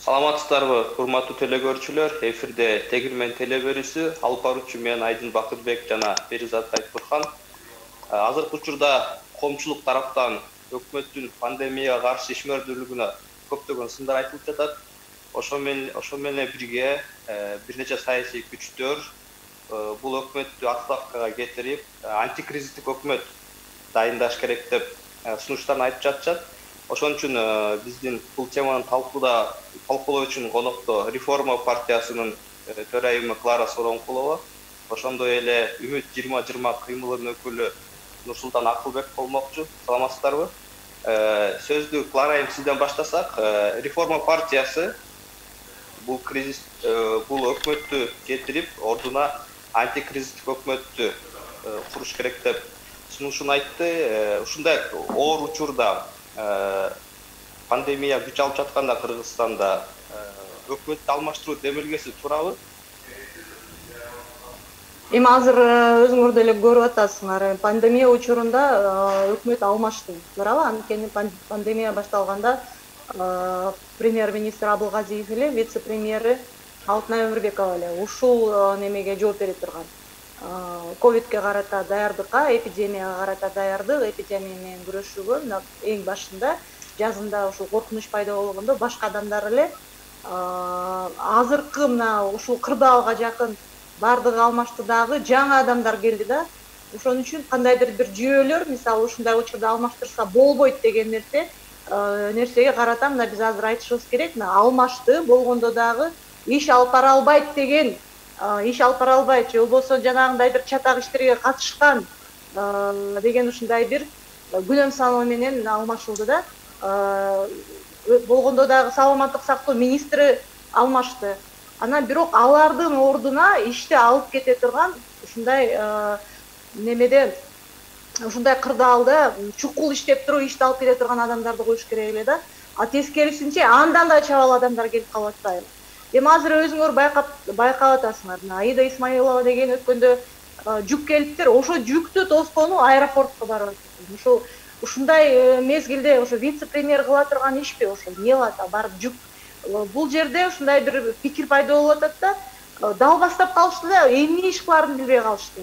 Саламатсыздарбы, урматтуу телекөрүүчүлөр. Эфирде Тегирмен телеберүүсү, алып баруучу мен Айдын Бакытбек жана Перизат Айтбурхан. Азыркы учурда коомчулук тараптан өкмөттүн пандемияга каршы ишмердүүлүгүнө көптөгөн сындар айтылып жатат. Ошо менен бирге бир нече саясий күчтөр бул өкмөттү отставкага кетирип, антикризистик өкмөт дайындаш керек деп сунуштарын айтып жатышат. Ошон үчүн биздин бул теманы талкуулоо үчүн конокто Реформа партиясынын төрайымы Клара Соронкулова, ошондой эле Үмүт 2020 кыймылынын өкүлү Нурсултан Акылбек болмокчу. Саламатсыздарбы? Сөздү Клара айым сизден баштасак, Реформа партиясы бул өкмөттү кетирип, ордуна антикризистик өкмөттү куруш керек деп сунушун айтты. Ушундай оор учурда пандемия күч алып жатканда Кыргызстанда өкмөттү алмаштыруу демилгеси туурабы? Эми азыр өзүңөр деле көрүп атасыңар, пандемия учурунда өкмөт алмашты, туурабы? Анткени пандемия башталганда премьер-министр Абылгазиев эле, вице-премьери Алтынай Өмүрбекова эле ушул немеге жооп бере турган. Ковидке карата даярдыкка, эпидемияга карата даярдык, эпидемия менен күрөшүүгө эң башында жазында ушул коркунуч пайда болгондо башка адамдар эле азыркы мына ушул кырдаалга жакын бардыгы алмашты дагы жаңы адамдар келди да. Ошон үчүн кандайдыр бир жүйөлөр, мисалы ушундай учурда алмаштырса болбойт деген нерсеге карата мына биз азыр айтышыбыз керек. Мына алмашты болгондо дагы иш алып бара албайт деген иш алып бара албайт, же болбосо жанагындай бир чатак иштерге катышкан деген ушундай бир күнөм саноо менен алмашылды да. Болгондо дагы саламаттык сактоо министри алмашты. Анан бирок алардын ордуна ишти алып кете турган ушундай немеде, ушундай кырдаалда чукул иштеп туруп ишти алып кете турган адамдарды коюш керек эле да. Тескерисинче андан да чабал адамдар келип калып атпайбы? Эми азыр өзүңөр байкап атасыңар. Аида Исмаилова деген өткөндө жүк келиптир. Ошо жүктү тоскону аэропортко барып атат. Ушундай мезгилде ошо вице-премьер кыла турган ишпи ошо? Эмне кылат? Барып жүк. Бул жерде ушундай бир пикир пайда болуп атат да. Далбастап калышты да, эмне иш кыларын билбей калышты.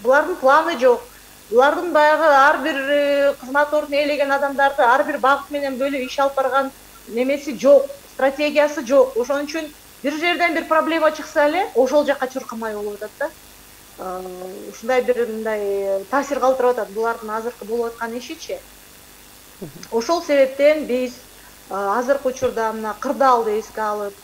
Булардын планы жок. Булардын баягы ар бир кызмат ордун ээлеген адамдарды ар бир багыт менен бөлүп иш алып барган немеси жок. Стратегиясы жок. Ошон үчүн бир жерден бир проблема чыкса эле, ошол жакка чуркамай болуп атат да. Ушундай бир мындай таасир калтырып атат булардын азыркы болуп аткан ишичи. Ошол себептен биз азыркы учурда мына кырдаалды эске алып,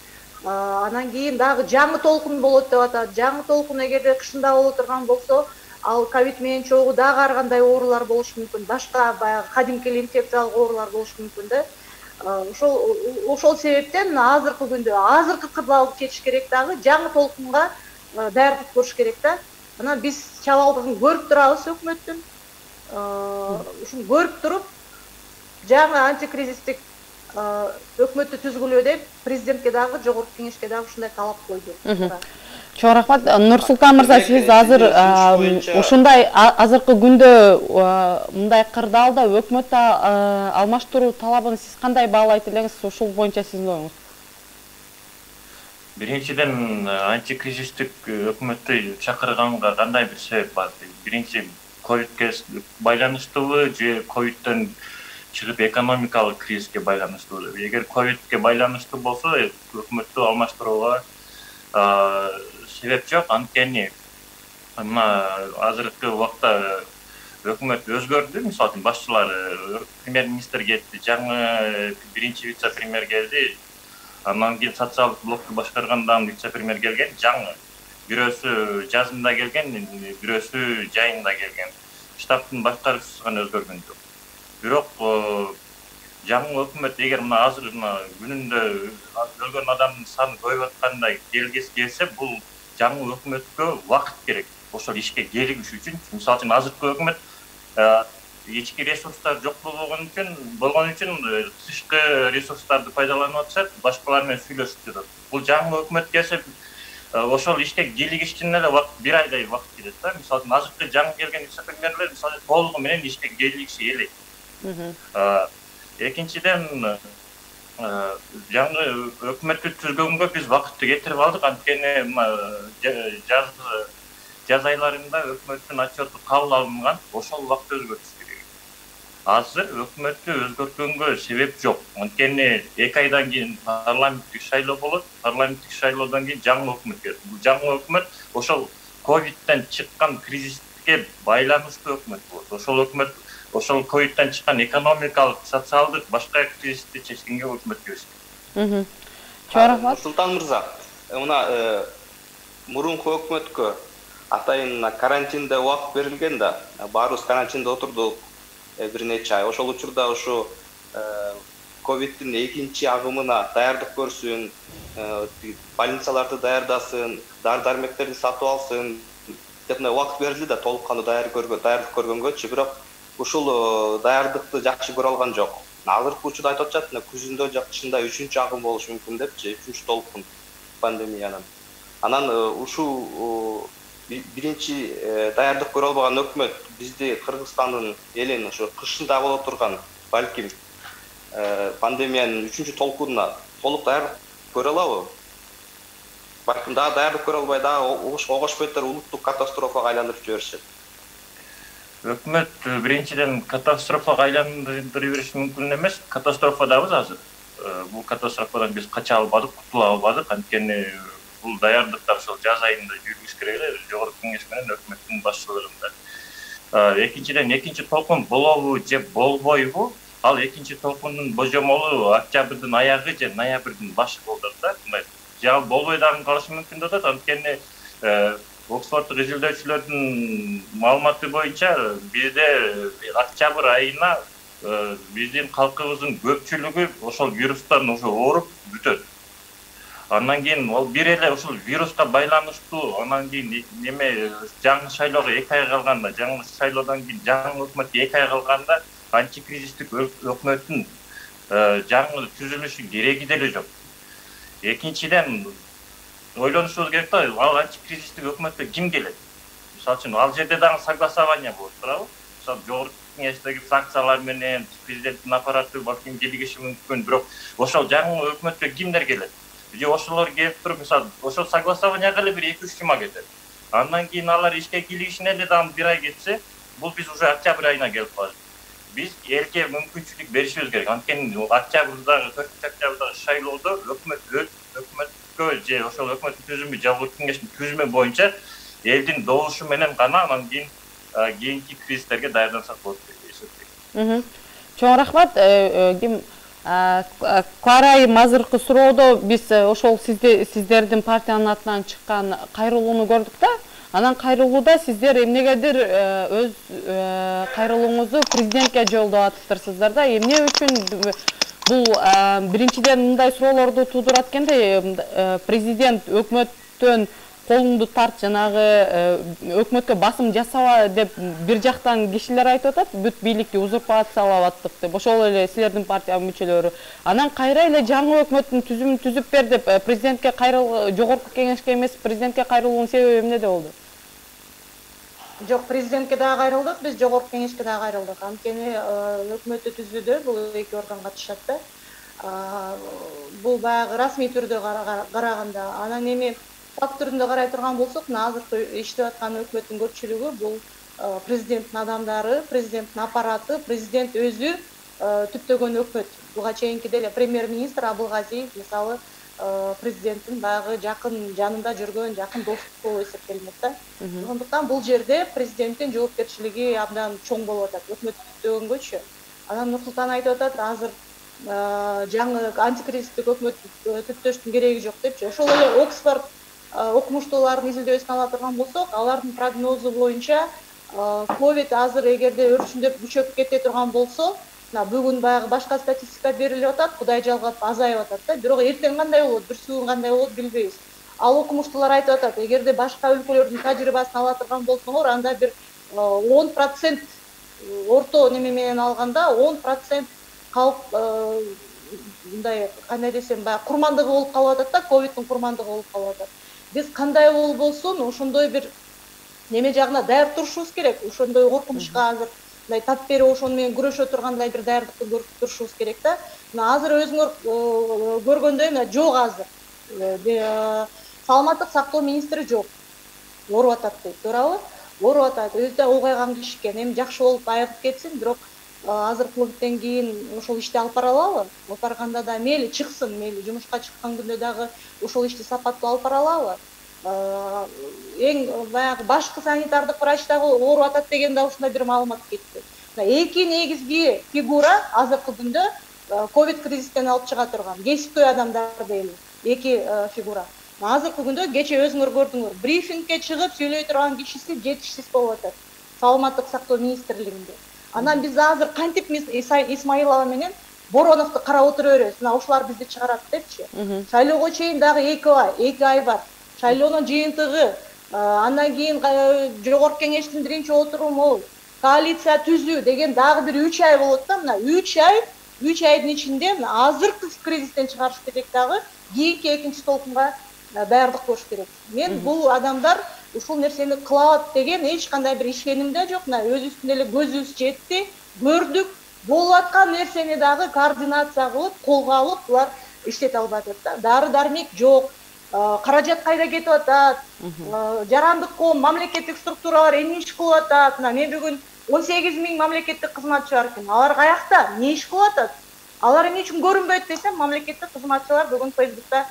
анан кийин дагы жаңы толкун болот деп атат. Жаңы толкун эгерде кышында боло турган болсо, ал ковид менен чогуу дагы ар кандай оорулар болушу мүмкүн. Башка баягы кадимки инфекциялык оорулар болушу мүмкүн да. Ошол себептен азыркы күндө азыркы кырдаалды кетиш керек дагы жаңы толкунга даярдык көрүш керек да. Анан биз чабалдыгын көрүп турабыз өкмөттүн. Ушуну көрүп туруп жаңы антикризистик өкмөттү түзгүлөө деп президентке дагы, жогорку кеңешке дагы ушундай талап койду. Чоң рахмат. Нурсултан мырза, сиз азыр ушундай азыркы күндө мындай кырдаалда өкмөттү алмаштыруу талабын сиз кандай баалайт элеңиз? Ушул боюнча сиздин оюңуз? Биринчиден, антикризистик өкмөттү чакырганга кандай бир себеп бар? Биринчи, ковидке байланыштуубу же ковидтен чыгып экономикалык кризиске байланыштуубу? Эгер ковидке байланыштуу болсо, өкмөттү алмаштырууга себеп жок. Анткени мына азыркы убакта өкмөт өзгөрдү. Мисалы үчүн башчылары, премьер-министр кетти, жаңы биринчи вице-премьер келди. Андан кийин социалдык блокту башкаргандан вице-премьер келген, жаңы. Бирөөсү жазында келген, бирөөсү жайында келген. Штабтын башкаруучусу гана өзгөргөн жок. Бирок жаңы өкмөт эгер мына азыр күнүндө өлгөн адамдын саны көбөйүп аткандай келсе, бул жаңы өкмөткө убакыт керек. Ошол ишке келиш үчүн, мисалы үчүн азыркы өкмөт ички ресурстар жок болгон үчүн тышкы ресурстарды пайдаланып атышат, башкалар менен сүйлөшүп жатат. Бул жаңы өкмөт келсе, ошол ишке кийлигиш үчүн эле бир айдай убакыт кетет да. Мисалы үчүн азыркы жаңы келген вице-премьерлер мисалы толугу менен ишке кийлигиши элек. Экинчиден, жаңы өкмөттү түзгөнгө биз вакытты кетирип алдык. Анткени жаз айларында өкмөттүн отчету кабыл алынган, ошол убакта өзгөртүш керек. Азыр өкмөттү өзгөрткөнгө себеп жок. Анткени 2 айдан кийин парламенттик шайлоо болот. Парламенттик шайлоодон кийин жаңы өкмөт келет. Бул жаңы өкмөт ошол ковидтен чыккан кризиске байланыштуу өкмөт болот. Ошол өкмөт ошол ковидтен чыккан экономикалык, социалдык башка кризисти чечкенге өкмөт киришет. Чоң рахмат. Султан мырза, мына мурунку өкмөткө атайын карантинде убакыт берилген да, баарыбыз карантинде отурдук бир нече ай. Ошол учурда ушу ковидтин экинчи агымына даярдык көрсүн, больницаларды даярдасын, дары-дармектерди сатып алсын деп убакыт берилди да, толук кандуу даярдык көргөнгөчү, бирок ушул даярдыкты жакшы көрө алган жок. Азыркы учурда айтып атышат, күзүндө жакшында 3-чү агым болушу мүмкүн депчи, 3-чү толкун пандемиянын. Анан ушул биринчи даярдык көрө албаган өкмөт бизди Кыргызстандын элин ушу кышында боло турган, балким пандемиянын 3-чү толкунуна толук даярдык көрө алабы? Балким дагы даярдык көрө албай, дагы огошпойтор улуттук катастрофага айландырып жиберишет. Өкмөт биринчиден катастрофага айландырып бериши мүмкүн эмес. Катастрофадабыз азыр. Бул катастрофадан биз кача албадык, кутула албадык. Анткени бул даярдыктар ошол жаз айында жүргүш керек эле, жогорку кеңеш менен өкмөттүн башчылыгында. Экинчиден, экинчи толкун болобу же болбойбу? Ал экинчи толкундун божомолу октябрдын аягы же ноябрдын башы болот да. Же болбой дагы калышы мүмкүн деп атат. Анткени Оксфорддук изилдөөчүлөрдүн маалыматы боюнча бизде октябрь айына биздин калкыбыздын көпчүлүгү ошол вирустан уже ооруп бүтөт. Андан кийин ал бир эле ушул вируска байланыштуу, андан кийин неме жаңы шайлоого 2 ай калганда, жаңы шайлоодон кийин жаңы өкмөткө 2 ай калганда антикризистик өкмөттүн жаңы түзүлүшү кереги деле жок. Экинчиден ойлонушубуз керек да, ал антикризистик өкмөткө ким келет? Мисалы үчүн ал жерде дагы согласование болот турабы? Мисалы жогорку кеңештеги фракциялар менен президенттин аппараты балким келиши мүмкүн, бирок ошол жаңы өкмөткө кимдер келет? Же ошолор келип туруп, мисалы, ошол согласованияга эле бир 2-3 жума кетет. Андан кийин алар ишке киришине эле дагы 1 ай кетсе, бул биз уже октябрь айына келип калдык. Биз элге мүмкүнчүлүк беришибиз керек. Анткени октябрдагы 4-октябрдагы шайлоодо өкмөткө же ошол өкмөттүн түзүмү, жогорку кеңештин түзүмү боюнча элдин добушу менен гана анан кийин кийинки кризистерге даярдансак болот деп эсептейм. Чоң рахмат. Ким Куарайым азыркы суроодо биз ошол сиздердин партиянын атынан чыккан кайрылууну көрдүк да. Анан кайрылууда сиздер эмнегедир өз кайрылууңузду президентке жолдоп атыптырсыздар да. Эмне үчүн бул биринчиден мындай суроолорду туудурат экенде, президент өкмөттөн колуңду тарт, жанагы өкмөткө басым жасаба деп бир жактан кишилер айтып атат, бүт бийликти узурпациялап аттык деп, ошол эле силердин партия мүчөлөрү. Анан кайра эле жаңы өкмөттүн түзүмүн түзүп бер деп президентке жогорку кеңешке эмес, президентке кайрылуунун себеби эмнеде болду? Жок, президентке дагы кайрылдык, биз жогорку кеңешке дагы кайрылдык. Анткени өкмөттү түзүүдө бул 2 орган катышат да. Бул баягы расмий түрдө караганда, анан эми факт түрүндө карай турган болсок, азыркы иштеп аткан өкмөттүн көпчүлүгү бул президенттин адамдары, президенттин аппараты, президент өзү түптөгөн өкмөт. Буга чейинки деле премьер-министр Абылгазиев мисалы президенттин баягы жакын жанында жүргөн жакын досу болуп эсептелинет да. Ошондуктан бул жерде президенттин жоопкерчилиги абдан чоң болуп атат өкмөт түптөгөнгөчү. Анан Нурсултан айтып атат, азыр жаңы антикризистик өкмөт түптөштүн кереги жок депчи. Ошол эле Оксфорд окумуштуулардын изилдөөсүн ала турган болсок, алардын прогнозу боюнча ковид азыр эгерде өрчүндөп күчөп кете турган болсо, бүгүн баягы башка статистика берилип атат, Кудай жалгап азайып атат да. Бирок эртең кандай болот, бүрсүгүн кандай болот билбейбиз. Ал окумуштуулар айтып атат, эгерде башка өлкөлөрдүн тажрыйбасын ала турган болсоңор, анда бир 10% орто неме менен алганда 10% калп мындай кандай десем, баягы курмандыгы болуп калып атат да, ковидтин курмандыгы болуп калып атат. Биз кандай болбосун ошондой бир неме жагына даяр турушубуз керек. Ошондой коркунучка азыр мындай тап берип ошону менен күрөшө тургандай бир даярдыкты көрүп турушубуз керек да. Мына азыр өзүңөр көргөндөй мына жок азыр. Саламаттык сактоо министри жок. Ооруп атат дейт, туурабы? Ооруп атат. Өзү да улгайган киши экен. Эми жакшы болуп айыгып кетсин, бирок азыр клубтен кийин ошол ишти алып бара алабы? Алып барганда да мейли чыксын, мейли жумушка чыккан күндө дагы ошол ишти сапаттуу алып бара алабы? Эң баягы башкы санитардык врач дагы ооруп атат деген да ушундай бир маалымат кетти. Эки негизги фигура азыркы күндө ковид кризистен алып чыга турган кесиптүү адамдар дейли. Эки фигура. Азыркы күндө кече өзүңөр көрдүңөр, брифингге чыгып сөйлөй турган кишиси жетишсиз болуп атат. Саламаттык сактоо министрлигинде. Анан биз азыр кантип Исмаилова менен Бороновду карап отура беребиз. Мына ушулар бизди чыгарат депчи. Шайлоого чейин дагы 2 ай бар. Шайлоонун жыйынтыгы, андан кийин жогорку кеңештин биринчи отуруму, коалиция түзүү деген дагы бир 3 ай болот да. Мына 3 айдын ичинде азыркы кризистен чыгарыш керек дагы кийинки экинчи толкунга даярдык көрүш керек. Мен бул адамдар ушул нерсени кылат деген эч кандай бир ишеним да жок. Мына өзүбүздүн эле көзүбүз жетти, көрдүк, болуп аткан нерсени дагы координация кылып, колго алып, булар иштете албатат да. Дары-дармек жок. Каражат кайда кетип атат? Жарандык ком, мамлекеттик структуралар эмне иш кылып атат? Мына мен бүгүн 18 000 мамлекеттик кызматчы бар экен. Алар каякта? Не иш кылып атат? Алар эмне үчүн көрүнбөйт десем, мамлекеттик кызматчылар бүгүн Facebook'та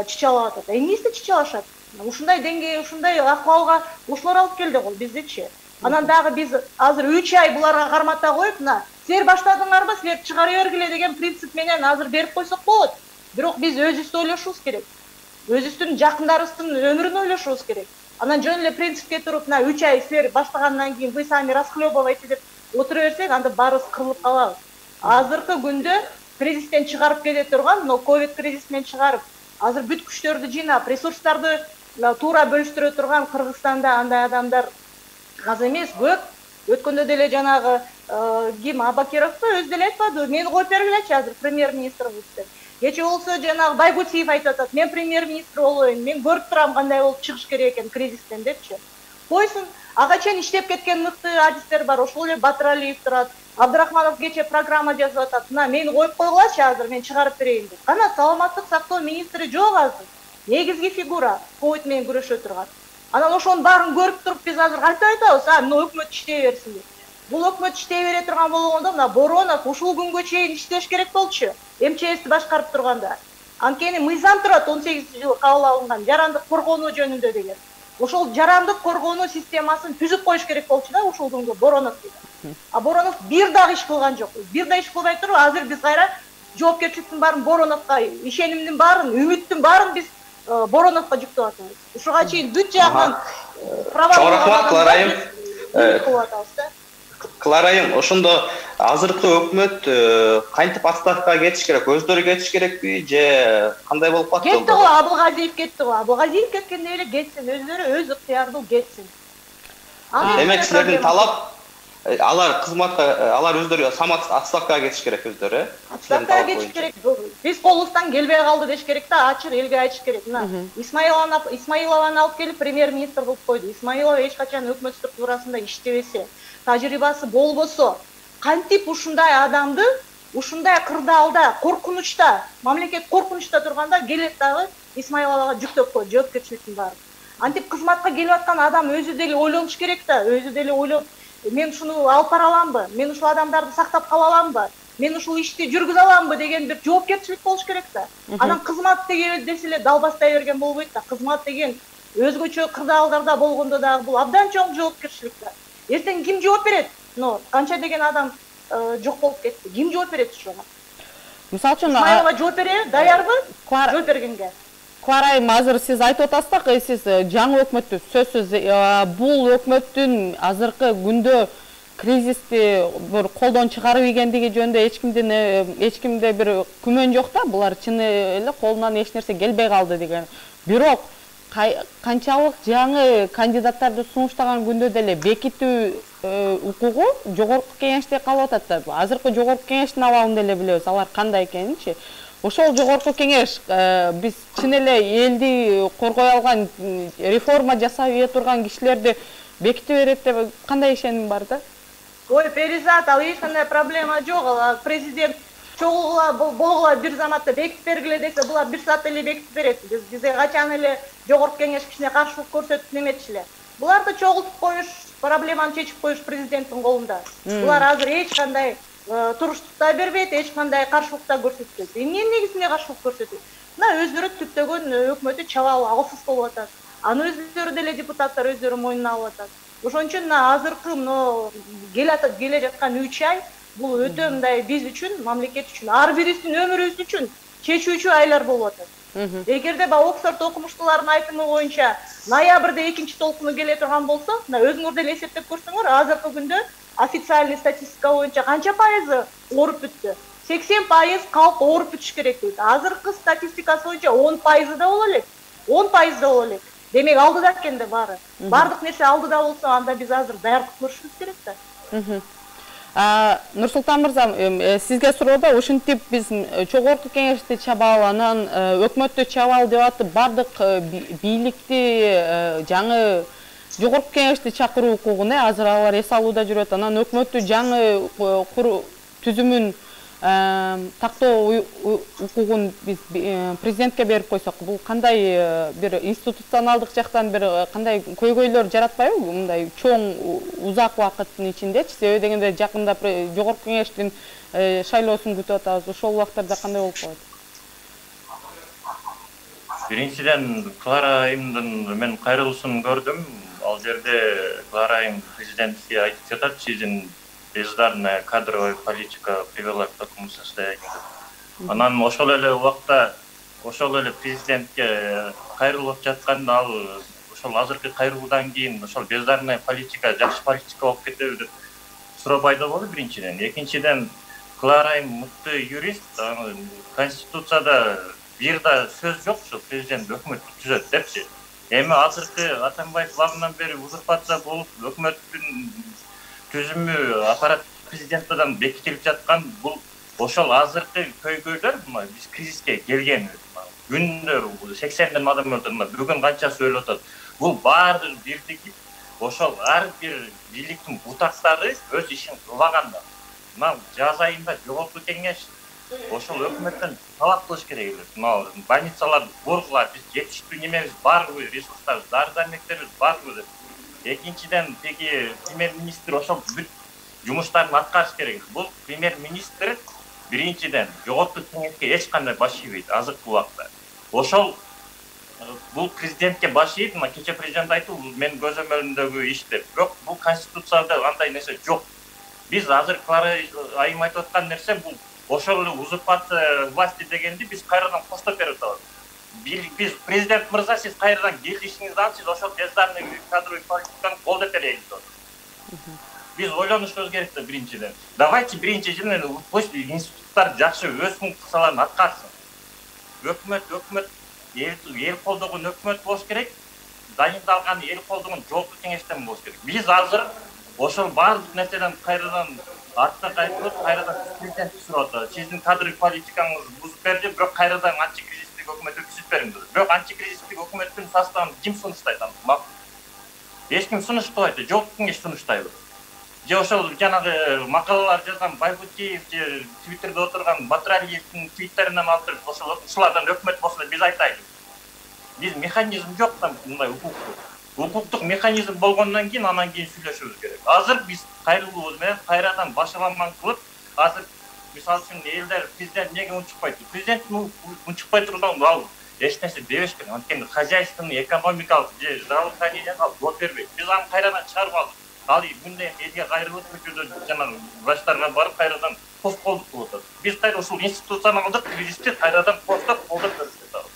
чычалап атат. Эмнеси чычалашат? Ушундай деңгэй, ушундай акыбалга ушулар алып келди го биздичи. Анан дагы биз азыр 3 ай буларга кармата коюп, мына силер баштадыңарбы, силер чыгара бергиле деген принцип менен азыр берип койсок болот. Бирок биз өзүбүздү ойлошубуз керек. Өзүбүздүн жакындарыбыздын өмүрүн ойлошубуз керек. Анан жөн эле принципке туруп, мына 3 ай силер баштагандан кийин вы сами расхлебывайте деп отура берсек, анда баарыбыз кырылып калабыз. Азыркы күндө кризистен чыгарып кете турган, но ковид кризисинен чыгарып, азыр бүт күчтөрдү жыйнап, ресурстарды туура бөлүштүрө турган Кыргызстанда андай адамдар аз эмес, көп. Өткөндө деле жанагы ким Абакировду өзү деле айтпады, мени коюп бергилечи азыр премьер-министрбиз деп. Кече болсо жанагы Байгутиев айтып атат, мен премьер-министр болоюн, мен көрүп турам кандай болуп чыгыш керек экен кризистен депчи. Койсун, ага чейин иштеп кеткен мыкты адистер бар, ошол эле Батыралиев турат. Абдрахманов кече программа жазып атат. Мына мени коюп койгулачы азыр, мен чыгарып берейин деп. Кана саламаттык сактоо министри жок азыр. Негизги фигура ковид менен күрөшө турган. Анан ошонун баарын көрүп туруп биз азыр кантип айтабыз? Мына өкмөт иштей берсин деп. Бул өкмөт иштей бере турган болгондо мына Боронов ушул күнгө чейин иштеш керек болчу. МЧСти башкарып турганда. Анткени мыйзам турат 18-жылы кабыл алынган жарандык коргонуу жөнүндө деген. Ошол жарандык коргонуу системасын түзүп коюш керек болчу да ушул күнгө Боронов деген. А Боронов бир дагы иш кылган жок. Бир да иш кылбай туруп азыр биз кайра жоопкерчиликтин баарын Бороновго, ишенимдин баарын, үмүттүн баарын биз Бороновго жүктөп атабыз. Ушуга чейин бүт жагынан Кларайым, ошондо азыркы өкмөт кантип отставкага кетиш керек? Өздөрү кетиш керекпи же кандай болуп калат? Кетти го, Абылгазиев кетти го. Абылгазиев кеткенде эле кетсин, өздөрү өз ыктыярдуу кетсин. Демек силердин талап алар кызматка, алар өздөрү отставкага кетиш керек өздөрү, Отставкага кетиш керек. Биз колубуздан келбей калды деш керек да, ачык элге айтыш керек. Мына Исмаилованы алып келип премьер-министр кылып койду. Исмаилова эч качан өкмөт структурасында иштебесе, тажрыйбасы болбосо, кантип ушундай адамды ушундай кырдаалда, коркунучта, мамлекет коркунучта турганда келет дагы Исмаиловага жүктөп койду жоопкерчиликтин баарын. Антип кызматка келип аткан адам өзү деле ойлонуш керек да, өзү деле ойлоп, мен ушуну алып бара аламбы, мен ушул адамдарды сактап кала аламбы, мен ушул ишти жүргүзө аламбы деген бир жоопкерчилик болуш керек да. Анан кызмат деген десе эле далбастай берген болбойт да. Кызмат деген өзгөчө кырдаалдарда болгондо дагы бул абдан чоң жоопкерчилик да. Эртең ким жооп берет? Канча деген адам жок болуп кетти. Ким жооп берет ушуга? Мисалы үчүн Исмаилова жооп береби? Даярбы? Жооп бергенге. Кларайым, азыр сиз айтып атасыз да, сиз жаңы өкмөттү сөзсүз бул өкмөттүн азыркы күндө кризисти бир колдон чыгарып ийгендиги жөнүндө эч кимде бир күмөн жок да, булар чын эле колунан эч нерсе келбей калды деген. Бирок канчалык жаңы кандидаттарды сунуштаган күндө деле бекитүү укугу жогорку кеңеште калып атат да. Азыркы жогорку кеңештин абалын деле билебиз, алар кандай экенинчи. Ошол жогорку кеңеш биз чын эле элди коргой алган, реформа жасап ийе турган кишилерди беките берет деп кандай ишеним бар да? Ой, Перизат, ал эч кандай проблема жок. Ал президент чогуула болгула бир заматта бекитип бергиле десе, булар бир саатта эле бекитип берет. Бизге качан эле жогорку кеңеш кичине каршылык көрсөтүп неметчиле. Буларды чогултуп коюш, проблеманы чечип коюш президенттин колунда. Булар азыр эч кандай туруштук да бербейт, эч кандай каршылык да көрсөтпөйт. Эмне негизинде каршылык көрсөтөт? Мына өздөрү түптөгөн өкмөтү чабал алсыз болуп атат. Аны өздөрү деле депутаттар өздөрү мойнуна алып атат. Ошон үчүн мына азыркы келе жаткан 3 ай бул өтө мындай биз үчүн, мамлекет үчүн, ар бирибиздин өмүрүбүз үчүн чечүүчү айлар болуп атат. Эгерде Оксфорд окумуштуулардын айтымы боюнча ноябрда экинчи толкуну келе турган болсо, мына өзүңөр деле эсептеп көрсөңөр, азыркы күндө официальный статистика боюнча канча пайызы ооруп бүттү? 80% калк ооруп бүтүш керек дейт. Азыркы статистикасы боюнча 10% да боло элек. 10% да боло элек. Демек алдыда экен да баары. Бардык нерсе алдыда болсо, анда биз азыр даярдык көрүшүбүз керек да. Нурсултан мырза, сизге суроодо ушинтип биз жогорку кеңешти чабалы, анан өкмөттү чабалы деп атып, бардык бийликти жаңы жогорку кеңешти чакыруу укугун азыр алар эс алууда жүрөт. Анан өкмөттү жаңы түзүмүн тактоо укугун биз президентке берип койсок, бул кандай бир институционалдык жактан бир кандай көйгөйлөр жаратпайбы мындай чоң узак убакыттын ичиндечи? Себеби дегенде жакында жогорку кеңештин шайлоосун күтүп атабыз. Ошол убактарда кандай болуп калат? Биринчиден Клара айымдын мен кайрылуусун көрдүм. Ал жерде Клара айым президентке айтып жатат, сиздин бездарная кадровая политика привела к такому состоянию. Анан ошол эле убакта, ошол эле президентке кайрылып жатканда ал ошол азыркы кайрылуудан кийин ошол бездарная политика жакшы политика болуп кетеби деп суроо пайда болду биринчиден. Экинчиден, Клара айым мыкты юрист, конституцияда бир да сөз жок, ошо президент өкмөттү түзөт депчи. Эми азыркы Атамбаев багынан бери узурпация болуп, өкмөттүн түзүмү аппарат президенттен бекитилип жаткан, бул ошол азыркы көйгөйлөр, биз кризиске келгенбиз. Күндө 80ден адам өлтүрүлөт, бүгүн канчасы өлүп атат. Бул баары бирдиги, ошол ар бир бийликтин бутактары өз ишин кылбаганда. Мына жаз айында жогорку кеңеш ошол өкмөттөн талап кылыш керек эле. Мына больницаларды кургула, биз жетиштүү немебиз барбы, ресурстарыбыз, дары-дармектерибиз барбы деп. Экинчиден, теги премьер-министр ошол бүт жумуштарын аткарыш керек. Бул премьер-министр биринчиден жогорку кеңешке эч кандай баш ийбейт азыркы убакта. Ошол бул президентке баш ийип, мына кече президент айтты, мен көзөмөлүндөгү иш деп. Бирок бул конституцияда андай нерсе жок. Биз азыр Клара айым айтып аткан нерсе бул ошол эле узурпация власти дегенди биз кайрадан коштоп берип атабыз. Биз президент мырза, сиз кайрадан келишиңизди алып, сиз ошол бездарный кадровый политиканы колдоп берейин деп. Биз ойлонушубуз керек да биринчиден. Давайте биринчиден пусть институттар жакшы өз функцияларын аткарсын. Өкмөт эл колдогон өкмөт болуш керек. Дайындалган эл колдогон жогорку кеңештен болуш керек. Биз азыр ошол баардык нерседен кайрадан артка кайтып, кайрадан президентти сурап атат. Сиздин кадровый политикаңыз бузуп берди, бирок кайрадан антикризистик өкмөт өткүзүп бериңиз. Бирок антикризистик өкмөттүн составын ким сунуштайт анда? Эч ким сунуштабайт, жогорку кеңеш сунуштайбы? Же ошол жанагы макалалар жазган Байбутиев же Твиттерде отурган Батыралиевдин твиттеринен алып, ушулардан өкмөт болсо биз айтайлы. Биз механизм жок да мындай укуктук механизм болгондон кийин анан кийин сүйлөшүбүз керек. Азыр биз кайрылуубуз менен кайрадан башаламан кылып, азыр мисалы үчүн элдер президент эмнеге унчукпайт? Президент унчукпай турган ал эч нерсе дебеш керек. Анткени хозяйственный, экономикалык же здравоохранение жооп бербейт. Биз аны кайрадан чыгарып алдык. Ал күндө элге кайрылып көчөдө жанагы врачтарга барып кайрадан пост колдук кылып атат. Биз кайра ушул институционалдык кризисти кайрадан колдоп көрсөтөт.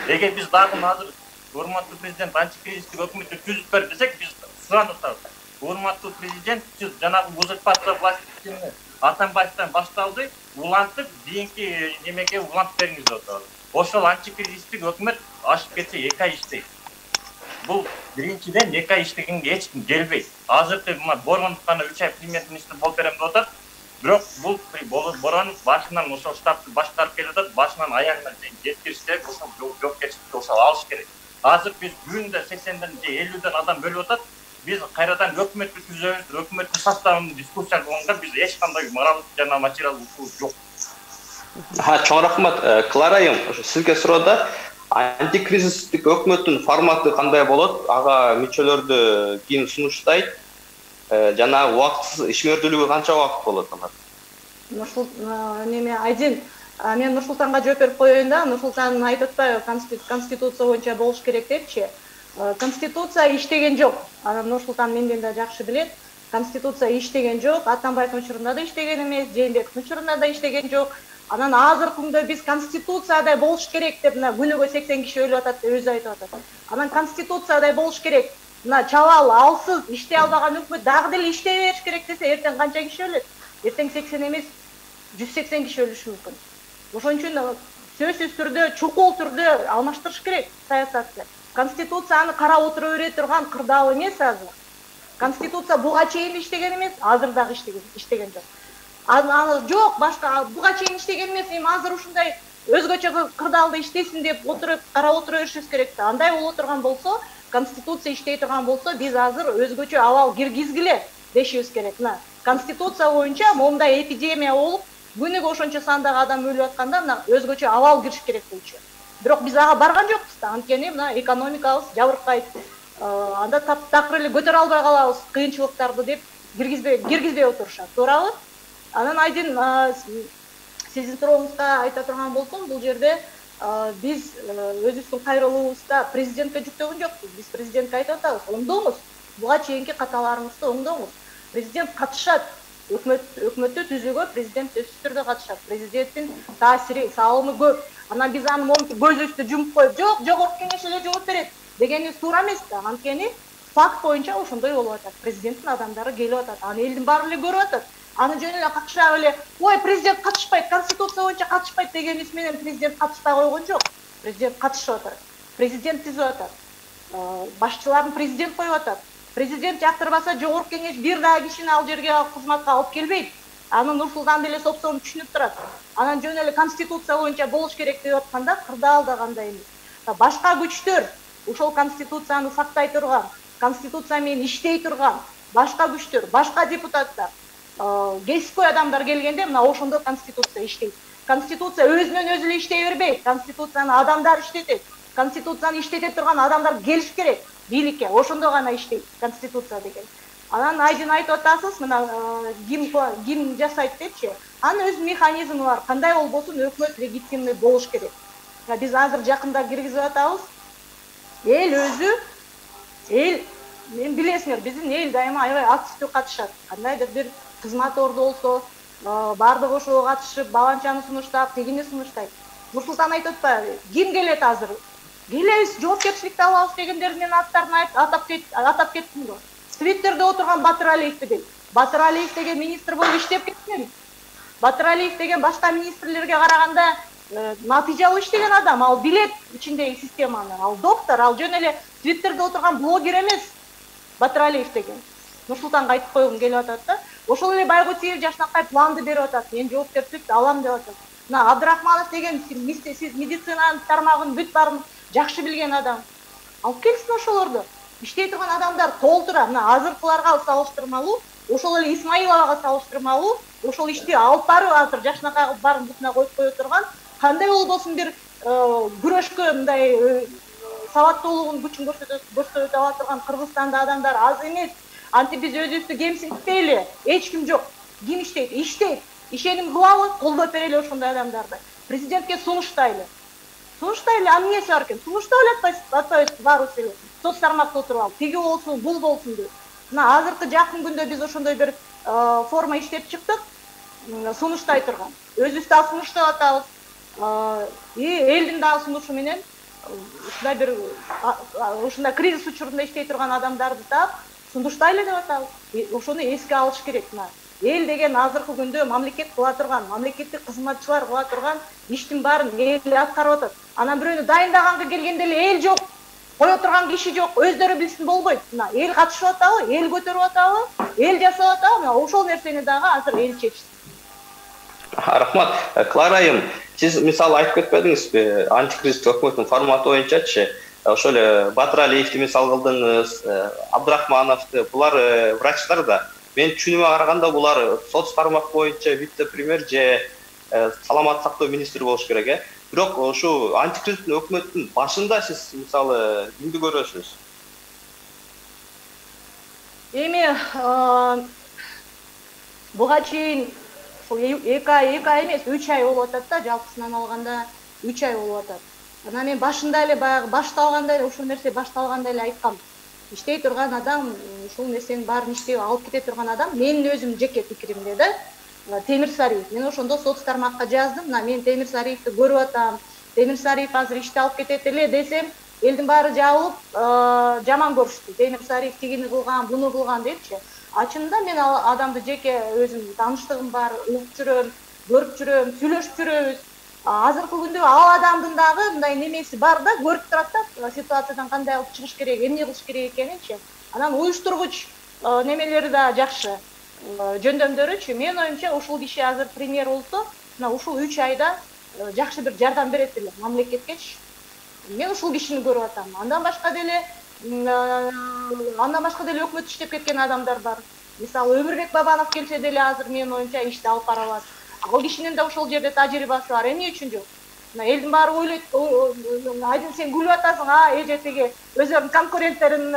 Эгер биз дагы азыр урматтуу президент антикризистик өкмөттү түзүп бер десек, биз суранып атабыз. Урматтуу президент, сиз жанагы узурпация властины Атамбаевден башталды, улантып, кийинки немеге улантып бериңиз деп атабыз. Ошол антикризистик өкмөт ашып кетсе 2 ай иштейт. Бул биринчиден 2 ай иштегенге эч ким келбейт. Азыркы мына Боронов гана 3 ай премьер-министр болуп берем деп атат. Бирок бул Боронов башынан ошол штабты башкарып келатат, башынан аягына чейин жеткириш керек, ошол жоопкерчиликти ошол алыш керек. Азыр биз күндө 80ден же 50ден адам өлүп атат. биз кайрадан өкмөттү түзөбүз, өкмөттүн составын дискуссия кылганга биз эч кандай моралдык жана материалдык укук жок. Чоң рахмат. Клара айым, сизге суроодо антикризистик өкмөттүн форматы кандай болот? Ага мүчөлөрдү ким сунуштайт? Жана убактысыз ишмердүүлүгү канча убакыт болот алар? Неме Айдин, мен Нурсултанга жооп берип коеюн да. Нурсултан айтып атпайбы, конституция боюнча болуш керек депчи. Конституция иштеген жок. Анан Нурсултан менден да жакшы билет. Конституция иштеген жок. Атамбаевдин учурунда да иштеген эмес, Жээнбековдун учурунда да иштеген жок. Анан азыркы күндө биз конституциядай болуш керек деп мына күнүгө 80 киши өлүп атат деп өзү айтып атат. Анан конституциядай болуш керек. Мына чабал, алсыз, иштей албаган өкмөт дагы деле иштей бериш керек десе, эртең канча киши өлөт? Эртең 80 эмес, 180 киши өлүшү мүмкүн. Ошон үчүн сөзсүз түрдө, чукул түрдө алмаштырыш керек саясатты. Конституцияны карап отура бере турган кырдаал эмес азыр. Конституция буга чейин иштеген эмес, азыр дагы иштеген жок. Аны жок, башка буга чейин иштеген эмес, эми азыр ушундай өзгөчө кырдаалда иштесин деп отуруп карап отура беришибиз керек да. Андай боло турган болсо, конституция иштей турган болсо, биз азыр өзгөчө абал киргизгиле дешибиз керек. Мына конституция боюнча моундай эпидемия болуп, күнүгө ошончо сандагы адам өлүп атканда мына өзгөчө абал кириш керек болчу. Бирок биз ага барган жокпуз да. Анткени мына экономикабыз жабыркайт. Анда таптакыр эле көтөрө албай калабыз кыйынчылыктарды деп киргизбей отурушат. Туурабы? Анан Айдин сиздин сурооңузга айта турган болсом, бул жерде биз өзүбүздүн кайрылуубузда президентке жүктөгөн жокпуз. Биз президентке айтып атабыз, оңдоңуз. Буга чейинки каталарыңызды оңдоңуз. Президент катышат. Өкмөттү түзүүгө президент сөзсүз түрдө катышат. Президенттин таасири, салымы көп. Анан биз аны монтип көзүбүздү жумуп коюп, жок, жогорку кеңеш эле жооп берет дегенибиз туура эмес да. Анткени факт боюнча ошондой болуп атат. Президенттин адамдары келип атат. Аны элдин баары эле көрүп атат. Аны жөн эле какшап эле, ой, президент катышпайт, конституция боюнча катышпайт дегенибиз менен президент катышпай койгон жок. Президент катышып атат. Президент түзүп атат. Башчыларын президент коюп атат. Президент жактырбаса жогорку кеңеш бир дагы кишини ал жерге кызматка алып келбейт. Аны Нурсултан деле сопсону түшүнүп турат. Анан жөн эле конституция боюнча болуш керек деп атканда кырдаалда кандай эмес. Башка күчтөр ошол конституцияны сактай турган, конституция менен иштей турган башка күчтөр, башка депутаттар, кесипкөй адамдар келгенде мына ошондо конституция иштейт. Конституция өзүнөн өзү эле иштей бербейт. Конституцияны адамдар иштетет. Конституцияны иштете турган адамдар келиш керек бийликке. Ошондо гана иштейт конституция деген. Анан Айдин айтып атасыз, мына ким жасайт депчи. Анын өз механизми бар. Кандай болбосун өкмөт легитимный болуш керек. Биз азыр жакында киргизип атабыз. Эл өзү, мен билесиңер, биздин эл дайыма аябай активдүү катышат. Кандайдыр бир кызмат орду болсо, баардыгы ошого катышып, баланчаны сунуштап, тигини сунуштайт. Нурсултан айтып атпайбы? Ким келет азыр? Келебиз, жоопкерчиликти алабыз дегендер менен аттарын атап кеттим го. Твиттерде отурган Батыр Алиев деген. Батыр Алиев деген министр болуп иштеп кеткен. Батыр Алиев деген башка министрлерге караганда натыйжалуу иштеген адам, ал билет ичиндеги системаны. Ал доктор, ал жөн эле Твиттерде отурган блогер эмес. Батыр Алиев деген. Нурсултанга айтып койгум келип атат да. Ошол эле Байгутиев Жашнакай планды берип атат. Мен жоопкерчиликти алам деп атат. Мына Абдрахманов деген сиз медицинанын тармагын бүт баарын жакшы билген адам. Алып келсин ошолорду. Иштей турган адамдар толтура. Мына азыркыларга салыштырмалуу, ошол эле Исмаиловага салыштырмалуу, ошол ишти алып барып азыр Жашнакай баарын бутуна коюп кое турган, кандай болбосун бир күрөшкө мындай сабаттуулугун күчүн көрсөтүп ала турган Кыргызстанда адамдар аз эмес. Антип биз өзүбүздү кемсинтпейли. Эч ким жок. Ким иштейт? Иштейт. Ишеним кылабы, колдоп берели ошондой адамдарды. Президентке сунуштайлы. Сунуштайлы, а эмнеси бар экен? Сунуштап эле атпайбыз баарыбыз эле. Соц тармакта отуруп алып, тиги болсун, бул болсун деп. Мына азыркы жакын күндө биз ошондой бир форма иштеп чыктык. Сунуштай турган. Өзүбүз да сунуштап атабыз. Элдин дагы сунушу менен ушундай бир ушундай кризис учурунда иштей турган адамдарды таап сунуштайлы деп атабыз. Ошону эске алыш керек. Мына эл деген азыркы күндө мамлекет кыла турган, мамлекеттик кызматчылар кыла турган иштин баарын эл аткарып атат. Анан бирөөнү дайындаганга келгенде эле эл жок, кое турган киши жок, өздөрү билсин болбойт. Мына эл катышып атабы, эл көтөрүп атабы, эл жасап атабы, мына ошол нерсени дагы азыр эл чечсин. Рахмат. Клара айым, сиз мисалы айтып кетпедиңизби, антикризистик өкмөттүн форматы боюнчачы ошол эле Батыралиевди мисал кылдыңыз, Абдрахмановду, булар врачтар да. Менин түшүнүмө караганда булар соц тармак боюнча вице-премьер же саламаттык сактоо министри болуш керек, Бирок ошо антикризистик өкмөттүн башында сиз мисалы кимди көрөсүз? Эми буга чейин 2 ай эмес, 3 ай болуп атат да, жалпысынан алганда 3 ай болуп атат. Анан мен башында эле баягы башталганда эле ушул нерсе башталганда эле айткам. Иштей турган адам, ушул нерсенин баарын иштеп алып кете турган адам, менин өзүм жеке пикиримде да, Темирсариев. Мен ошондо соц тармакка жаздым. Мен Темирсариевди көрүп атам. Темирсариев азыр ишти алып кетет эле десем, элдин баары жабылып, жаман көрүштү. Темирсариев тигини кылган, буну кылган депчи. Чынында мен адамды жеке өзүм тааныштыгым бар, угуп жүрөм, көрүп жүрөм, сүйлөшүп жүрөбүз. Азыркы күндө ал адамдын дагы мындай немеси бар да, көрүп турат да, ситуациядан кандай алып чыгыш керек, эмне кылыш керек экенинчи. Анан уюштургуч немелери да жакшы, жөндөмдөрүчү. Менин оюмча ушул киши азыр премьер болсо, мына ушул 3 айда жакшы бир жардам берет эле мамлекеткечи. Мен ушул кишини көрүп атам. Андан башка деле өкмөт иштеп кеткен адамдар бар. Мисалы Өмүрбек Бабанов келсе деле азыр менин оюмча ишти алып бара алат. Ал кишинин да ошол жерде тажрыйбасы бар. Эмне үчүн жок? Мына элдин баары ойлойт, айдын сен күлүп атасың, эжетиги өздөрүнүн конкуренттерин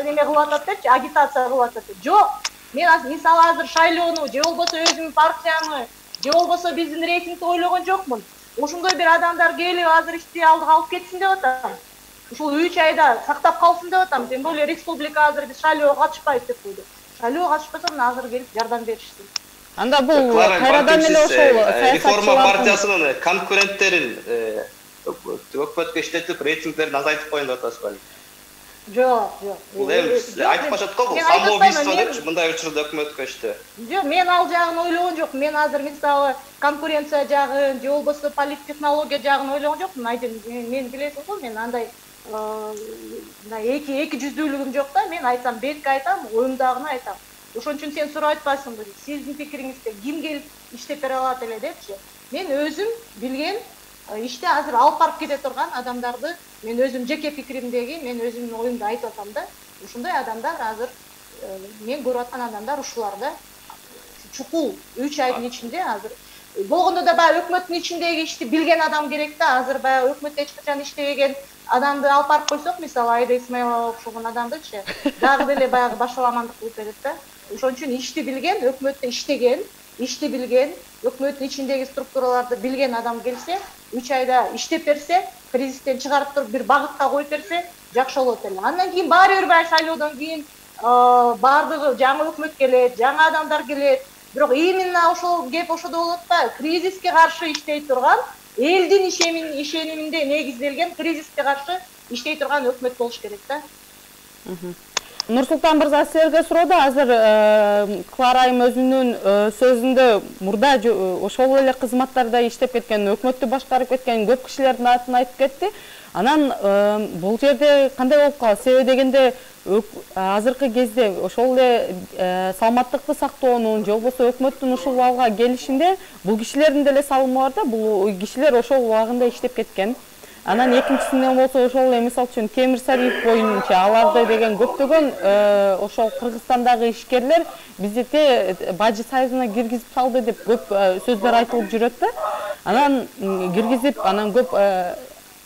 неме кылып атат депчи, агитация кылып атат деп. Жок. Мен мисалы азыр шайлоону же болбосо өзүмдүн партиямы, же болбосо биздин рейтингди ойлогон жокмун. Ошондой бир адамдар келип азыр ишти алдыга алып кетсин деп атам. Ушул 3 айда сактап калсын деп атам. Тем более республика азыр биз шайлоого катышпайбыз деп койду. Шайлоого катышпаса мына азыр келип жардам беришсин. Анда бул кайрадан эле ошол реформа партиясынын конкуренттерин өкмөткө иштетип рейтингдерин азайтып коюн деп атасыз беле? Жок. Бул эми айтып калышат го, бул самоубийство депчи, мындай учурда өкмөткө иштөө. Жок, мен ал жагын ойлогон жокмун. Мен азыр мисалы конкуренция жагын, же болбосо политтехнология жагын ойлогон жокмун. Мен билесиз го, мен андай эки жүздүүлүгүм жок да. Мен айтсам бетке айтам, оюмдагыны айтам. Ошон үчүн сен сурап атпайсыңбы? Сиздин пикириңизде ким келип иштеп бере алат эле депчи. Мен өзүм билген иште азыр алып барып кете турган адамдарды мен өзүм жеке пикиримдеги, мен өзүмдүн оюмду айтып атам да. Ушундай адамдар азыр мен көрүп аткан адамдар ушулар да. Чукул 3 айдын ичинде азыр болгондо да баягы өкмөттүн ичиндеги ишти билген адам керек да. Азыр баягы өкмөттө эч качан иштебеген адамды алып барып койсок, мисалы Айда Исмаилова окшогон адамдычы, дагы деле баягы башаламандык кылып берет да. Ошон үчүн ишти билген, өкмөттө иштеген, ишти билген, өкмөттүн ичиндеги структураларды билген адам келсе, 3 айда иштеп берсе, кризистен чыгарып туруп бир багытка коюп берсе, жакшы болот эле. Андан кийин баары бир баягы шайлоодон кийин баардыгы жаңы өкмөт келет, жаңы адамдар келет. Бирок именно ошол кеп ошодо болот да, кризиске каршы иштей турган, элдин ишениминде негизделген кризиске каршы иштей турган өкмөт болуш керек да. Нурсултан мырза, силерге суроодо азыр Клара айым өзүнүн сөзүндө мурда ошол эле кызматтарда иштеп кеткен, өкмөттү башкарып кеткен көп кишилердин атын айтып кетти. Анан бул жерде кандай болуп калат? Себеби дегенде азыркы кезде ошол эле саламаттыкты сактоонун же болбосо өкмөттүн ушул абалга келишинде бул кишилердин деле салымы бар да, бул кишилер ошол убагында иштеп кеткен. Анан экинчисинен болсо ошол эле мисалы үчүн Темирсариев боюнча аларды деген көптөгөн ошол Кыргызстандагы ишкерлер бизде бажы союзуна киргизип салды деп көп сөздөр айтылып жүрөт да. Анан киргизип, анан көп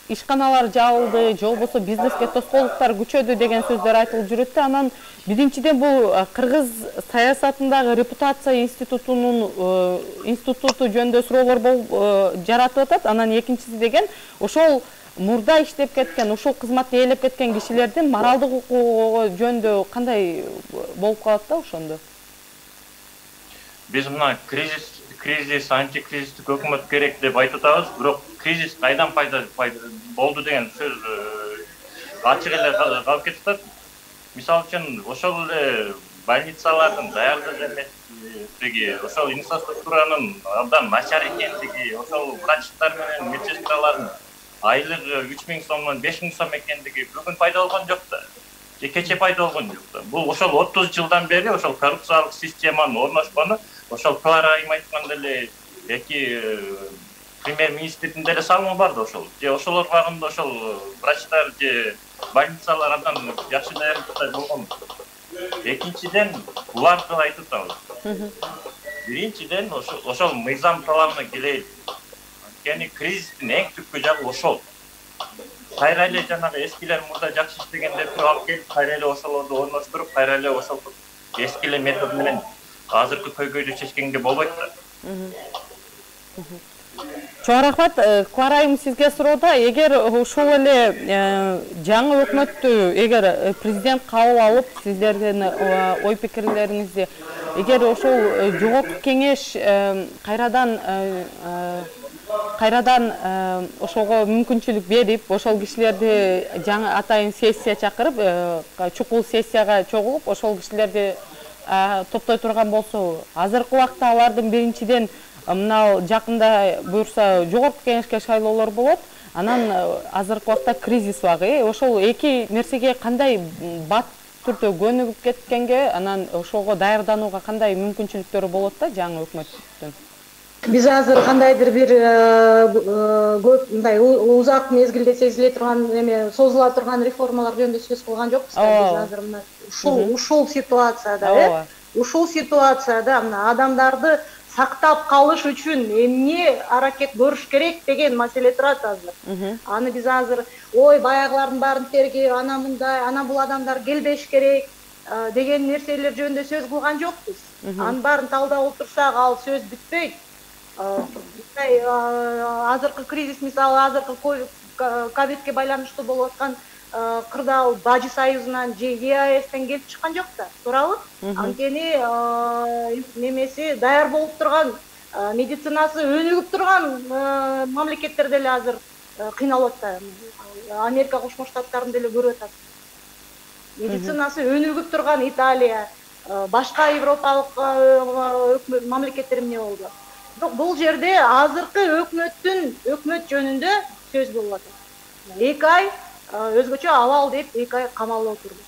ишканалар жабылды, же болбосо бизнеске тоскоолдуктар күчөдү деген сөздөр айтылып жүрөт да. Анан биринчиден бул кыргыз саясатындагы репутация институту жөнүндө суроолор жаратып атат. Анан экинчиси деген ошол мурда иштеп кеткен, ушул кызматты ээлеп кеткен кишилердин моралдык укугу жөнүндө кандай болуп калат да ошондо? Биз мына кризис, антикризистик өкмөт керек деп айтып атабыз, бирок кризис кайдан пайда болду деген сөз ачык эле калып кетип атат. Мисалы үчүн ошол эле больницалардын даярдык эместиги, ошол инфраструктуранын абдан начар экендиги, ошол врачтар менен медсестралардын айлыгы 3000 сомдон 5000 сом экендиги бүгүн пайда болгон жок да. Же кече пайда болгон жок да. Бул ошол 30 жылдан бери ошол коррупциялык системанын орношкону, ошол Клара айым айткандай эле эки премьер-министрдин деле салымы бар да ошол. Же ошолор багында ошол врачтар же больницалар андан жакшы даярдыкта болгон. Экинчиден, буларды айтып атабыз. Биринчиден, ошол мыйзам талабына келейик. Анткени кризистин эң түпкү жагы ошол. Кайра эле жанагы эскилер мурда жакшы иштегендерди алып келип, кайра эле ошолорду орноштуруп, кайра эле ошол эски эле метод менен азыркы көйгөйдү чечкенге болбойт да. Чоң рахмат. Куарайым сизге суроода, эгер ошол эле жаңы өкмөттү эгер президент кабыл алып, сиздердин ой пикирлериңизди, эгер ошол жогорку кеңеш кайрадан ошого мүмкүнчүлүк берип, ошол кишилерди жаңы атайын сессия чакырып, чукул сессияга чогулуп, ошол кишилерди топтой турган болсо, азыркы убакта алардын биринчиден мына жакында буюрса жогорку кеңешке шайлоолор болот, анан азыркы убакта кризис багы. Ошол эки нерсеге кандай бат түрдө көнүгүп кеткенге, анан ошого даярданууга кандай мүмкүнчүлүктөрү болот да жаңы өкмөттүн? Биз азыр кандайдыр бир көп мындай узак мезгилде сезиле турган эме созула турган реформалар жөнүндө сөз кылган жокпуз да. Биз азыр мына ушул ситуацияда мына адамдарды сактап калыш үчүн эмне аракет көрүш керек деген маселе турат азыр. Аны биз азыр баягылардын баарын тергеп, ана мындай, ана бул адамдар келбеш керек деген нерселер жөнүндө сөз кылган жокпуз. Анын баарын талдап отурсак, ал сөз бүтпөйт. Азыркы кризис, мисалы азыркы ковидке байланыштуу болуп аткан кырдаал Бажы союзунан же ЕАЭСтен келип чыккан жок да, туурабы? Анткени немеси даяр болуп турган, медицинасы өнүгүп турган мамлекеттер деле азыр кыйналып атат. Америка Кошмо Штаттарын деле көрүп атат. Медицинасы өнүгүп турган Италия, башка европалык мамлекеттер эмне болду? Бирок бул жерде азыркы өкмөт жөнүндө сөз болуп атат. 2 ай өзгөчө абал деп 2 ай камалып отурду.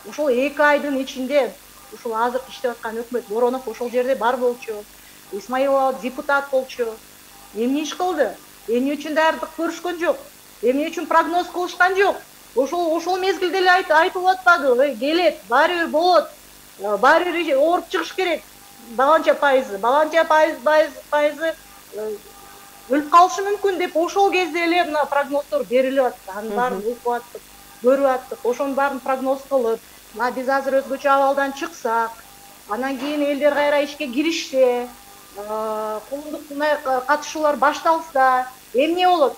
Ошол 2 айдын ичинде ушул азыр иштеп аткан өкмөт Боронов ошол жерде бар болчу. Исмаилова депутат болчу. Эмне иш кылды? Эмне үчүн даярдык көрүшкөн жок? Эмне үчүн прогноз кылышкан жок? Ошол мезгилде эле айтылып атпады. Келет, баары бир болот. Баары бир ооруп чыгыш керек. Баланча пайызы өлүп калышы мүмкүн деп ошол кезде эле мына прогноздор берилип атты. Анын баарын укуп аттык, көрүп аттык. Ошонун баарын прогноз кылып, мына биз азыр өзгөчө абалдан чыксак, анан кийин элдер кайра ишке киришсе, коомдук катышуулар башталса, эмне болот?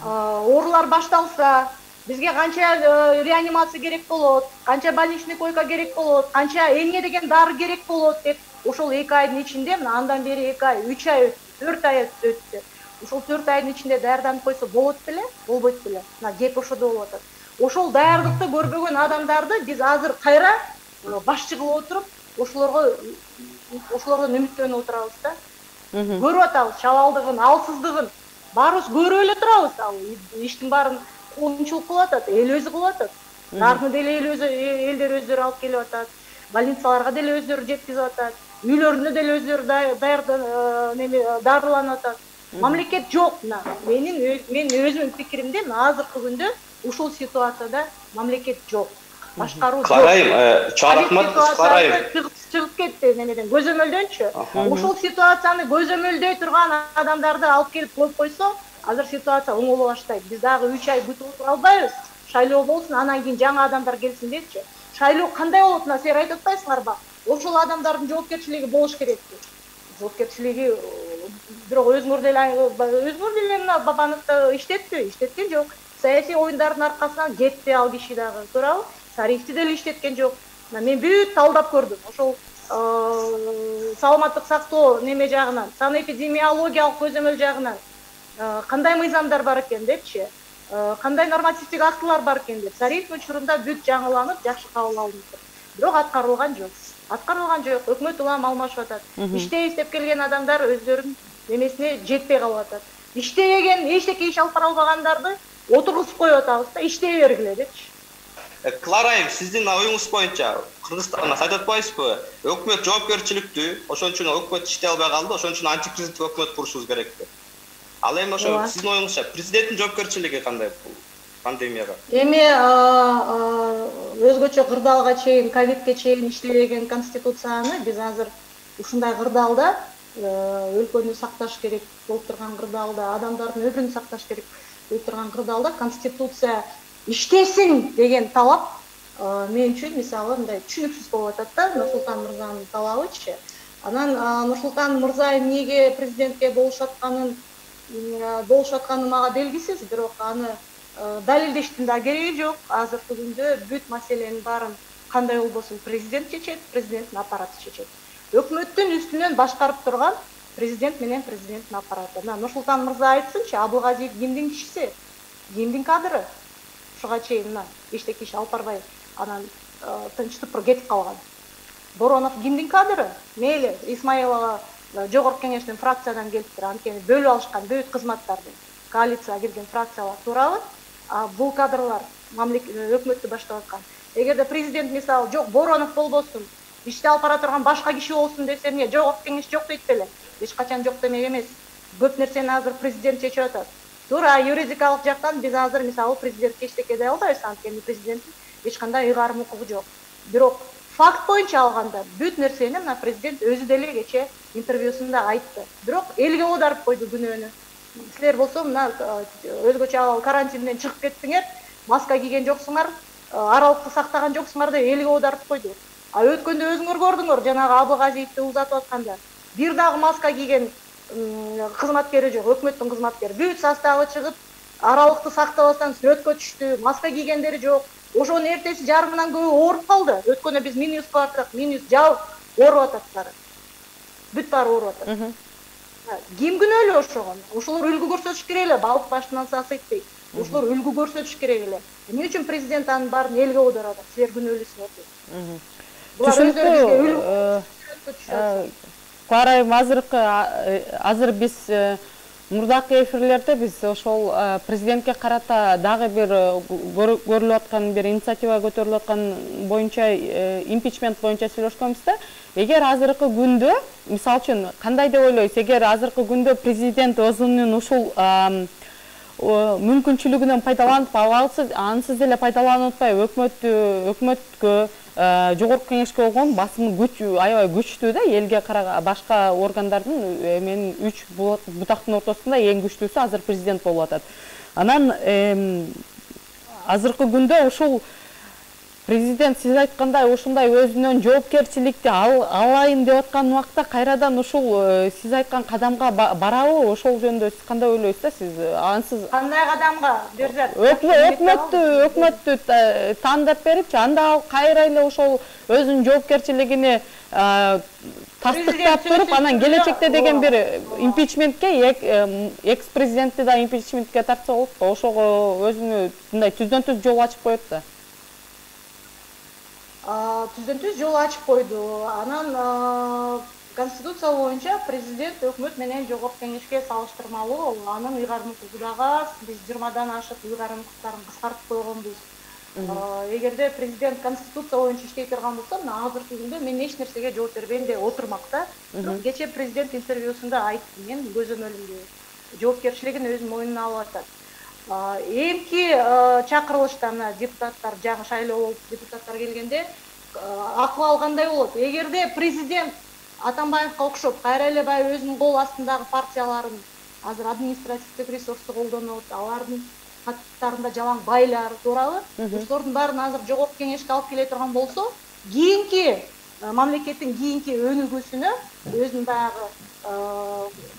Оорулар башталса, бизге канча реанимация керек болот, канча больничный койка керек болот, канча эмне деген дары керек болот деп ошол 2 айдын ичинде, мына андан бери 2 ай, 3 ай, 4 ай өттү. Ошол 4 айдын ичинде даярданып койсо болот беле, болбойт беле. Мына кеп ошодо болуп атат. Ошол даярдыкты көрбөгөн адамдарды биз азыр кайра башчы кылып отуруп, ошолордон үмүттөнүп отурабыз да. Көрүп атабыз чабалдыгын, алсыздыгын. Баарыбыз көрүп эле турабыз. Ал иштин баарын коомчулук кылып атат, эл өзү кылып атат. Дарыны деле элдер өздөрү алып келип атат. Больницаларга деле өздөрү жеткизип атат. Үйлөрүнө деле өздөрү дарыланып атат. Мамлекет жок. Мен өзүмдүн пикиримде азыркы күндө ушул ситуацияда мамлекет жок. Башкаруу жок. Карайым, чарахмат карайым. Чыгып кетти немеден, көзөмөлдөнчү. Ушул ситуацияны көзөмөлдөй турган адамдарды алып келип коюп койсо, азыр ситуация оңоло баштайт. Биз дагы 3 ай күтүп отура албайбыз. Шайлоо болсун, анан кийин жаңы адамдар келсин депчи. Шайлоо кандай болот, силер айтып атпайсыңарбы? Ошол адамдардын жоопкерчилиги болуш керек. Жоопкерчилиги бирок өзүңөр деле Бабановду иштеткен жок. Саясий оюндардын аркасынан кетти ал киши дагы, туурабы? Сариевди деле иштеткен жок. Мен бүт талдап көрдүм. Ошол саламаттык сактоо неме жагынан, санэпидемиологиялык көзөмөл жагынан кандай мыйзамдар бар экен депчи, кандай нормативдик актылар бар экен деп. Сариевдин учурунда бүт жаңыланып, жакшы кабыл алынды. Бирок аткарылган жок. Өкмөт улам алмашып атат. Иштейбиз деп келген адамдар өздөрүнүн немесине жетпей калып атат. Иштебеген, эчтеке иш алып бара албагандарды отургузуп коюп атабыз да, иштей бергиле депчи. Кларайым, сиздин оюңуз боюнча Кыргызстанда айтып атпайсызбы? Өкмөт жоопкерчиликтүү, ошон үчүн өкмөт иштей албай калды, ошон үчүн антикризистик өкмөт курушубуз керек деп. Ал эми ошо сиздин оюңузча президенттин жоопкерчилиги кандай бул пандемияга? Эми өзгөчө кырдаалга чейин, ковидке чейин иштебеген конституцияны биз азыр ушундай кырдаалда өлкөнү сакташ керек болуп турган кырдаалда, адамдардын өмүрүн сакташ керек болуп турган кырдаалда конституция иштесин деген талап мен үчүн мисалы мындай түшүнүксүз болуп атат да, Нурсултан мырзанын талабычы. Анан Нурсултан мырза эмнеге президентке болушатканы мага белгисиз, бирок аны далилдештин да кереги жок. Азыркы күндө бүт маселенин баарын кандай болбосун президент чечет, президенттин аппараты чечет. Өкмөттүн үстүнөн башкарып турган президент менен президенттин аппараты. Нурсултан мырза айтсынчы, Абылгазиев кимдин кишиси, кимдин кадры? Ушуга чейин эчтеке иш алып барбай анан тынчтып кетип калган. Боронов кимдин кадры? Мейли Исмаилова жогорку кеңештин фракциядан келиптир, анткени бөлүп алышкан бүт кызматтарды, коалицияга кирген фракциялар туурабы? Бул кадрлар өкмөттү баштап аткан. Эгерде президент мисалы жок Боронов болбосун, ишти алып бара турган башка киши болсун десе, эмне жогорку кеңеш жок дейт беле? Эч качан жок демек эмес. Көп нерсени азыр президент чечип атат. Туура юридикалык жактан биз азыр мисалы президентке эчтеке дей албайбыз, анткени президенттин эч кандай ыйгарым укугу жок. Бирок факт боюнча алганда бүт нерсени мына президент өзү деле кече интервьюсунда айтты. Бирок элге оодарып койду күнөөнү. Силер болсо мына өзгөчө карантинден чыгып кеттиңер, маска кийген жоксуңар, аралыкты сактаган жоксуңар деп элге оодарып койду. Өткөндө өзүңөр көрдүңөр, жанагы Абылгазиевди узатып атканда бир дагы маска кийген кызматкери жок, өкмөттүн кызматкери. Бүт составы чыгып, аралыкты сактабастан сүрөткө түштү, маска кийгендери жок. Ошонун эртеси жарымынан көбү ооруп калды. Өткөндө биз минус бардык, минус жабып ооруп атат баары. Бүт баары ооруп атат. Ким күнөөлүү ошого? Ошолор үлгү көрсөтүш керек эле, балык башынан сасыйт дейт. Ошолор үлгү көрсөтүш керек эле. Эмне үчүн президент анын баарын элге оодарат? Силер күнөөлүүсүңөр дейт. Булар өздөрү бизге үлгү көрсөтүшөт. Карайм, азыр биз мурдакы эфирлерде биз ошол президентке карата дагы бир көрүлүп аткан бир инициатива көтөрүлүп аткан боюнча импичмент боюнча сүйлөшкөнбүз да. Эгер азыркы күндө, мисалы үчүн, кандай деп ойлойсуз, эгер азыркы күндө президент өзүнүн ушул мүмкүнчүлүгүнөн пайдаланып алсыз, ансыз деле пайдаланып атпай өкмөткө, жогорку кеңешке болгон басым аябай күчтүү да, элге караган башка органдардын менин 3 бутактын ортосунда эң күчтүүсү азыр президент болуп атат. Анан азыркы күндө ушул президент сиз айткандай ушундай өзүнөн жоопкерчиликти алайын деп аткан убакта кайрадан ушул сиз айткан кадамга барабы? Ошол жөнүндө сиз кандай ойлойсуз да? Сиз ансыз кандай кадамга берзат? Өкмөттү тандап берипчи, анда ал кайра эле ошол өзүнүн жоопкерчилигини тастыктап туруп, анан келечекте деген бир импичментке, экс-президентти да импичментке тартса болот го. Ошого өзүнү мындай түздөн түз жол ачып коет да. Түздөн түз жол ачып койду. Анан конституция боюнча президент өкмөт менен жогорку кеңешке салыштырмалуу анын ыйгарым укугу дагы аз. Биз 20-дан ашык ыйгарым укуктарын кыскартып койгонбуз. Эгерде президент конституция боюнча иштей турган болсо, мына азыркы күндө мен эч нерсеге жооп бербейм деп отурмак да. Бирок кече президент интервьюсунда айтты, мен көзөмөлүмдү жоопкерчилигин өз мойнуна алып атат. Эмки чакырылышта мына депутаттар жаңы шайлоо болуп депутаттар келгенде акыбал кандай болот? Эгерде президент Атамбаевка окшоп кайра эле баягы өзүнүн кол астындагы партияларын азыр административдик ресурсту колдонот, алардын каттарында жалаң байлар, туурабы? Ошолордун баарын азыр жогорку кеңешке алып келе турган болсо, кийинки мамлекеттин кийинки өнүгүүсүнө өзүнүн баягы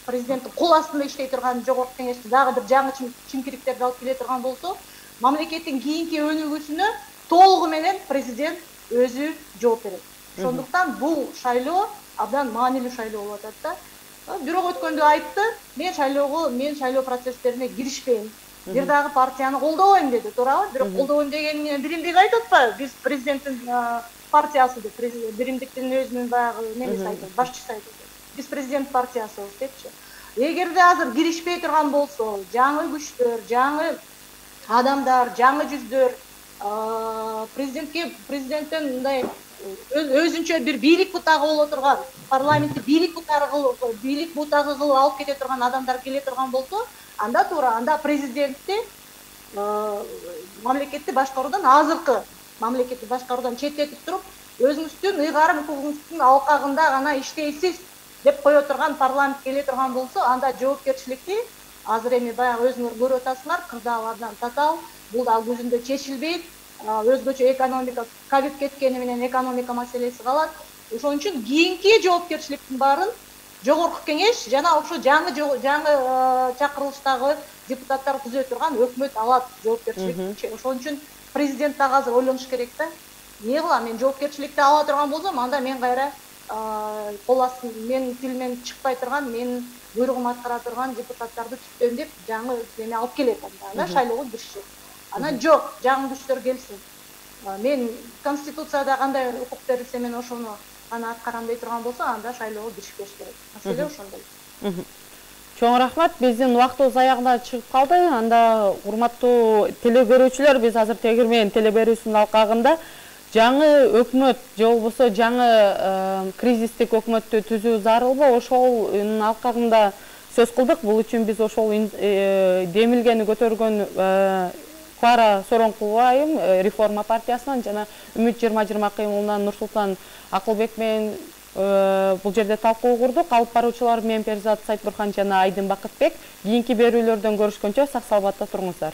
президенттин кол астында иштей турган жогорку кеңеште дагы бир жаңы чимкириктерди алып келе турган болсо, мамлекеттин кийинки өнүгүүсүнө толугу менен президент өзү жооп берет. Ошондуктан бул шайлоо абдан маанилүү шайлоо болуп атат да. Бирок өткөндө айтты, мен шайлоо процесстерине киришпейм. Бир дагы партияны колдобойм деди, туурабы? Бирок колдобойм дегенин биримдик айтып атпайбы? Биз президенттин партиясы деп, биримдиктин өзүнүн баягы немеси айтат, башчысы айтат. Биз президент партиясыбыз депчи. Эгерде азыр киришпей турган болсо, жаңы күчтөр, жаңы адамдар, жаңы жүздөр президенттен мындай өзүнчө бир бийлик бутагы боло турган, парламентти бийлик бутагы кылып алып кете турган адамдар келе турган болсо, анда туура, анда президентти мамлекетти башкаруудан, азыркы мамлекетти башкаруудан четтетип туруп, өзүңүздүн ыйгарым укугуңуздун алкагында гана иштейсиз деп кое турган парламент келе турган болсо, анда жоопкерчиликти азыр эми баягы өзүңөр көрүп атасыңар, кырдаалардан татаал, бул да көзүндө чечилбейт, өзгөчө экономика, ковид кеткени менен экономика маселеси калат. Ошон үчүн кийинки жоопкерчиликтин баарын жогорку кеңеш жана ошо жаңы чакырылыштагы депутаттар түзө турган өкмөт алат жоопкерчиликти. Ошон үчүн президент дагы азыр ойлонуш керек да. Эмне кылам, мен жоопкерчиликти ала турган болсом, анда мен кайра кол астын менин тилимен чыкпай турган, менин буйругум аткара турган депутаттарды түптөн деп жаңы эме алып келет анда шайлоого киришет. Анан жок, жаңы күчтөр келсин. Мен конституцияда кандай укук берилсе мен ошону аны аткарам дей турган болсо, анда шайлоого киришпеш керек. Маселе ошондой. Чоң рахмат, биздин убактыбыз аягына чыгып калды. Анда урматтуу теле биз азыр Тегирмен телеберүүсүнүн алкагында жаңы өкмөт же болбосо жаңы кризистик өкмөттү түзүү зарылбы, ошонун алкагында сөз кылдык. Бул үчүн биз ошол демилгени көтөргөн Клара Соронкулова айым Реформа партиясынан жана Үмүт 2020 кыймылынан Нурсултан Акылбек менен бул жерде талкуу курдук. Алып баруучулар мен Перизат Сайтбурхан жана Айдын Бакытбек. Кийинки берүүлөрдөн көрүшкөнчө сак саламатта туруңуздар.